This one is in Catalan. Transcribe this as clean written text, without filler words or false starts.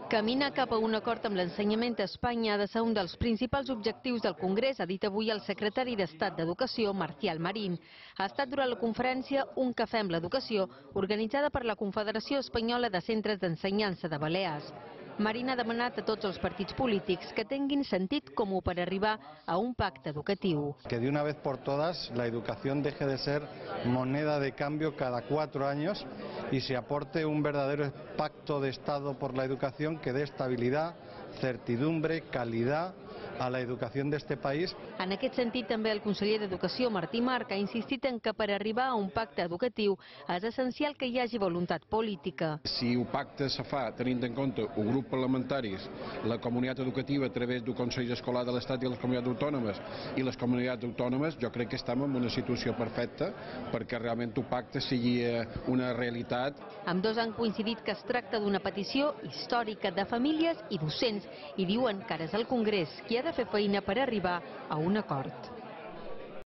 Caminar cap a un acord amb l'ensenyament a Espanya ha de ser un dels principals objectius del Congrés, ha dit avui el secretari d'Estat d'Educació, Marcial Marín. Ha estat durant la conferència Un cafè amb l'educació, organitzada per la Confederació Espanyola de Centres d'Ensenyança de Balears. Marín ha demanat a tots els partits polítics que tinguin sentit comú per arribar a un pacte educatiu. Que de una vez por todas la educación deje de ser moneda de cambio cada 4 años y se aporte un verdadero pacto de Estado por la educación que dé estabilidad, certidumbre, calidad a la educación de este país. En aquest sentit, també el conseller d'Educació, Martí Marc, ha insistit en que per arribar a un pacte educatiu és essencial que hi hagi voluntat política. Si el pacte se fa tenint en compte el grup parlamentaris, la comunitat educativa a través del Consell Escolar de l'Estat i les comunitats autònomes i les comunitats autònomes, jo crec que estem en una situació perfecta perquè realment el pacte sigui una realitat. Ambdós han coincidit que es tracta d'una petició històrica de famílies i docents i diuen que ara és el Congrés qui ha de fer feina per arribar a un acord.